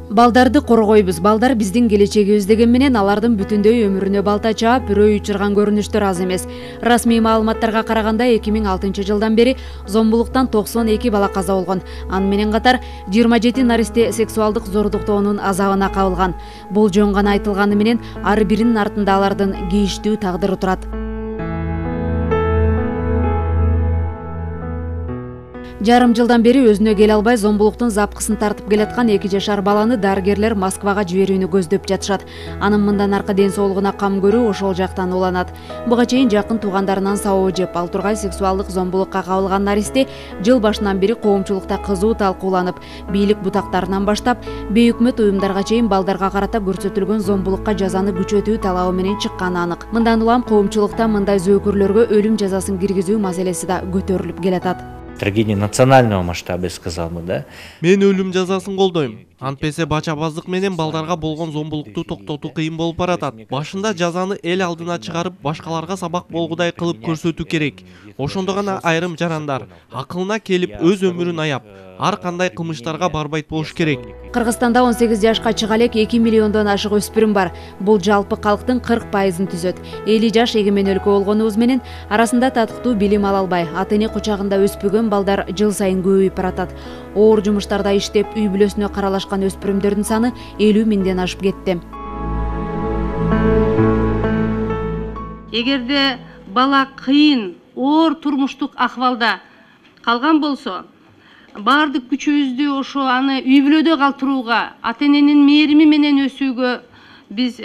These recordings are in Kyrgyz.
Балдарды коргойбуз. Балдар биздин келечегибиз деген менен алардын бүтүндөй өмүрүнө балта чаап, үрөй учурган көрүнүштөр аз эмес. Расмий маалыматтарга караганда 2006 жылдан бери зомбулуктан 92 бала каза болгон. Аны менен катар 27 наристе сексуалдык зордуктоонун азабына кабылган. Бул жөн гана айтылганы менен ар биринин артында алардын кейиштүү тагдыры турат. Жарым жылдан бери өзүнө келе албай зомбулуктун запкысын тартып келаткан 2 жашар баланы дарыгерлер Москвага жиберүүнү көздөп жатышат. Анын мындан аркы ден соолугуна кам көрүү ошол жактан уланат. Буга чейин жакын туугандарынан сабоо жеп, ал тургай сексуалдык зомбулукка кабылган наристе жыл башынан бери коомчулукта кызуу талкууланып, бийлик бутактарынан баштап бейөкмөт уюмдарга чейин балдарга карата көрсөтүлгөн зомбулукка жазаны күчөтүү талабы менен чыкканы анык. Мындан улам коомчулукта мындай зөөкүрлөргө өлүм жазасын киргизүү маселеси да көтөрүлүп келатат. Трагедия национального масштаба, я сказал бы, да? Мен өлүм жазасын колдойм. Антпесе бачабаздык менен балдарга болгон зомбулукту токтотуу кыйын болуп баратат. Башында жазаны эл алдына чыгарып, башкаларга сабак болгудай кылып көрсөтүү керек. Ошондо гана айрым жарандар акылына келип өз өмүрүн аяп, ар кандай кылмыштарга барбайт болуш керек. Кыргызстанда 18 жашка чыга элек 2 миллиондон ашык өспүрүм бар. Бул жалпы калктын 40%-ын түзөт. 50 жаш эгемен өлкө болгонубуз менен арасында татыктуу билим ала албай, ата-эне кучагында өспөгөн балдар жыл сайын көбөйүп баратат. Оор жумуштарда иштеп, үй бүлөсүнө каралашкан өспүрүмдөрдүн саны 50 миңден ашып кетти. Эгерде бала кыйын, оор турмуштук акыбалда калган болсо, баардык күчүбүздү ошо аны үй бүлөдө калтырууга, ата-эненин мээрими менен өсүүгө биз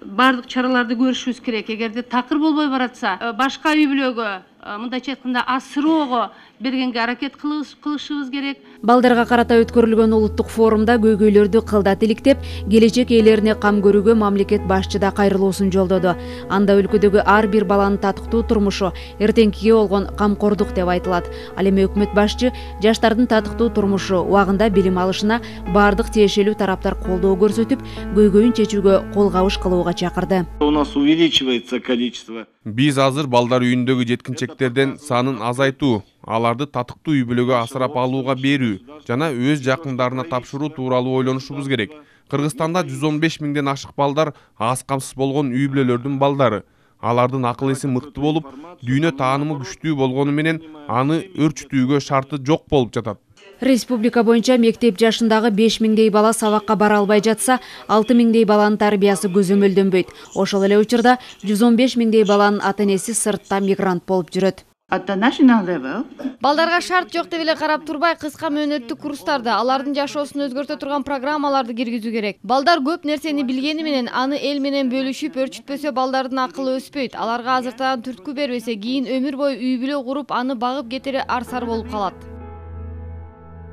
баардык чараларды көрүшүбүз керек. Эгерде такыр болбой баратса, башка үй бүлөгө, мындайча айтканда асыроого бергенге аракет кылышыбыз керек. Балдарга карата өткөрүлгөн улуттук форумда көйгөйлөрдү кылдат иликтеп, келечек ээлерине кам көрүүгө мамлекет башчыда кайрылуусун жолдоду. Анда өлкөдөгү ар бир баланын татыктуу турмушу эртеңкиге болгон камкордук деп айтылат. Ал эми өкмөт башчы жаштардын татыктуу турмушу, убагында билим алышына баардык тиешелүү тараптар колдоо көрсөтүп, көйгөйүн чечүүгө кол кабыш кылууга чакырды. У нас увеличивается количество. Биз азыр балдар үйүндөгү жеткинчектерден санын азайтуу, аларды татыктуу үй бүлөгө асырап алууга берүү жана өз жакындарына тапшыруу тууралуу ойлонушубуз керек. Кыргызстанда 115 миңден ашык балдар аз камсыз болгон үй бүлөлөрдүн балдары. Алардын акыл эси мыкты болуп, дүйнө таанымы күчтүү болгону менен аны өрчүтүүгө шарты жок болуп жатат. Республика боюнча мектеп жашындагы 5 миңдей бала сабакка бара албай жатса, 6 миңдей баланын тарбиясы көзөмөлдөнбөйт. Ошол эле учурда 115 миңдей баланын ата-энеси сыртта мигрант болуп жүрөт. Балдарга шарт жок деп эле карап турбай, кыска мөөнөттүк курстарда алардын жашоосун өзгөртө турган программаларды киргизүү керек. Балдар көп нерсени билгени менен аны эл менен бөлүшүп, өрчүтпөсө балдардын акылы өспөйт. Аларга азыртаан түрткү бербесе, кийин өмүр бою үй бүлө куруп, аны багып кетери арсар болуп калат.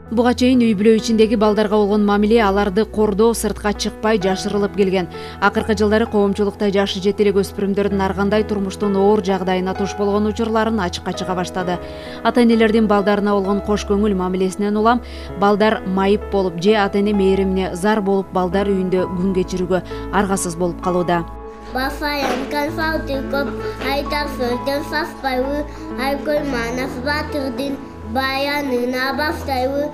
Буга чейин үй бүлө ичиндеги балдарга болгон мамиле аларды кордоо, сыртка чыкпай жашырылып келген. Акыркы жылдары коомчулукта жашы жете элек өспүрүмдөрдүн ар кандай турмуштун оор жагдайына туш болгон учурларын ачыкка чыга баштады. Ата-энелердин балдарына болгон кош көңүл мамилесинен улам балдар майып болуп же ата-эне мээримине зар болуп балдар үйүндө күн кечирүүгө аргасыз болуп калууда. Бафаян конфауту көп айтар сөздөн саспайбы, айкөл манас батырдын баянына баштайбы.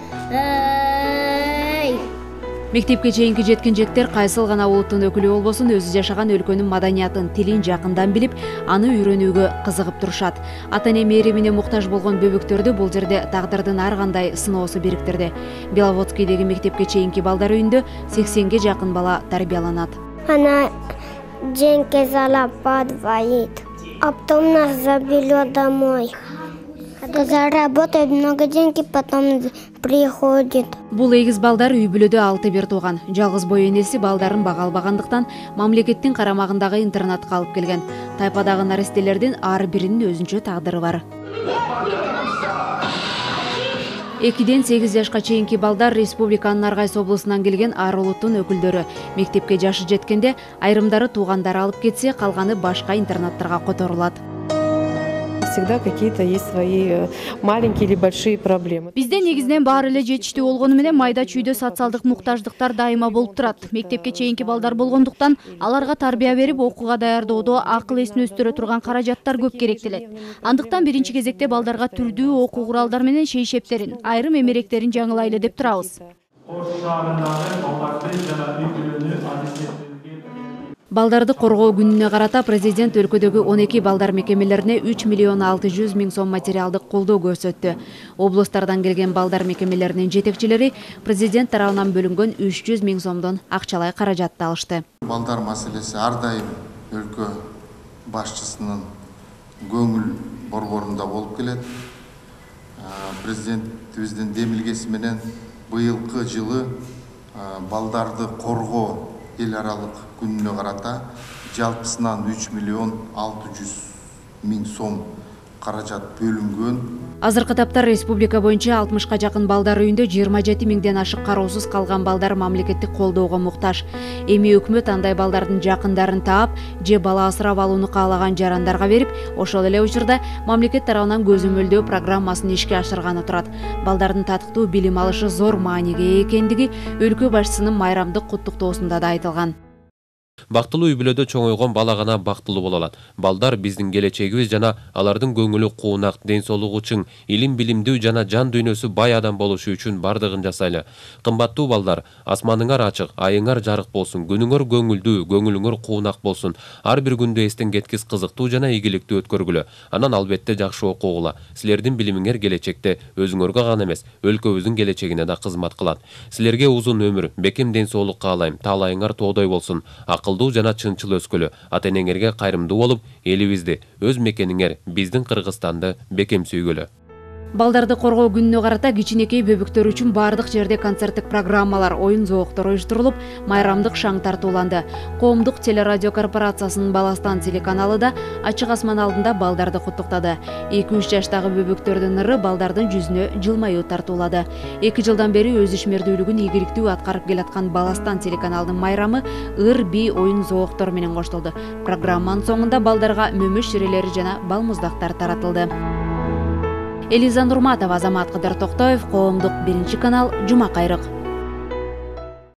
Мектепке чейинки жеткинжектер кайсыл гана улуттун өкүлү болбосун, өзү жашаган өлкөнүн маданиятын, тилин жакындан билип, аны үйрөнүүгө кызыгып турушат. Ата-эне мээримине муктаж болгон бөбөктөрдү бул жерде тагдырдын ар кандай сыноосу бириктирди. Беловодскийдеги мектепке чейинки балдар үйүндө 80ге жакын бала тарбияланат. Она деньги зарабатывает, а потом нас заберет домой. Заработает много денег, потом приходит. Бул эгиз балдар үй бүлөдө 6 бир тууган. Жалгыз бой энеси балдарын бага албагандыктан мамлекеттин карамагындагы интернатка алып келген. Тайпадагы наристелердин ар биринин өзүнчө тагдыры бар. 2-ден 8 жашка чейинки балдар республиканын ар кайсы облусунан келген ар улуттун өкүлдөрү. Мектепке жашы жеткенде айрымдары туугандары алып кетсе, калганы башка интернаттарга которулат. Всегда какие-то есть свои маленькие или большие проблемы. Бизде негизинен баары эле жетиштүү болгону менен майда чүйдө социалдык муктаждыктар дайыма болуп турат. Мектепке чейинки балдар болгондуктан аларга тарбия берип, окууга даярдоодо акыл эсин өстүрө турган каражаттар көп керектелет. Андыктан биринчи кезекте балдарга түрдүү окуу куралдар менен шейшептерин, айрым эмеректерин жаңылайлы деп турабыз. Балдарды коргоо күнүнө карата президент өлкөдөгү 12 балдар мекемелерине 3 миллион 600 миң сом материалдык колдоо көрсөттү. Облустардан келген балдар мекемелеринин жетекчилери президент тарабынан бөлүнгөн 300 миң сомдон акчалай каражатты алышты. Балдар маселеси ар дайым өлкө башчысынын көңүл борборунда болуп келет. Президентибиздин демилгеси менен быйылкы жылы балдарды коргоо эл аралык күнүнө карата жалпысынан 3 миллион 600 миң сом каражат бөлүнгөн. Азыркы тапта республика боюнча 60ка жакын балдар үйүндө 27 миңден ашык кароосуз калган балдар мамлекеттик колдоого муктаж. Эми өкмөт андай балдардын жакындарын таап, же бала асырап алууну каалаган жарандарга берип, ошол эле учурда мамлекет тарабынан көзөмөлдөө программасын ишке ашырганы турат. Балдардын татыктуу билим алышы зор мааниге ээ экендиги өлкө башчысынын майрамдык куттуктоосунда да айтылган. Бактылуу үй-бүлөдө чоңойгон бала гана бактылуу боло алат. Балдар биздин келечегибиз жана алардын көңүлү куунак, ден соолугу чың, илим билимдүү жана жан дүйнөсү бай адам болушу үчүн бардыгын жасайлы. Кымбаттуу балдар, асманыңар ачык, айыңар жарык болсун, күнүңөр көңүлдүү, көңүлүңөр куунак болсун. Ар бир күндү эстен кеткис кызыктуу жана ийгиликтүү өткөргүлө. Анан албетте жакшы окугула. Силердин билимиңер келечекте өзүңөргө гана эмес, өлкөбүздүн келечегине да кызмат кылат. Силерге узун өмүр, бекем ден соолук каалайм. Таалайыңар тоодой болсун. Акылдуу жана чынчыл өскөлө, ата-энеңерге кайрымдуу болуп, элибизди, өз мекениңер, биздин Кыргызстанды бекем сүйгөлө. Балдарды коргоо күнүнө карата кичинекей бөбүктөр үчүн бардык жерде концерттик программалар, оюн зооктор уюштурулуп, майрамдык шаң тартууланды. Коомдук телерадио корпорациясынын Баластан телеканалы да ачык асман алдында балдарды куттуктады. 2-3 жаштагы бөбүктөрдүн ыры балдардын жүзүнө жылмаюу тартуулады. 2 жылдан бери өз ишмердүүлүгүн ийгиликтүү аткарып келаткан Баластан телеканалынын майрамы ыр, би, оюн зооктор менен коштолду. Программанын соңунда балдарга мөмөш ширелери жана балмуздактар таратылды. Элиза Нурматова, Азамат Кыдыр Токтоев, Коомдук 1 канал, Жума кайрык.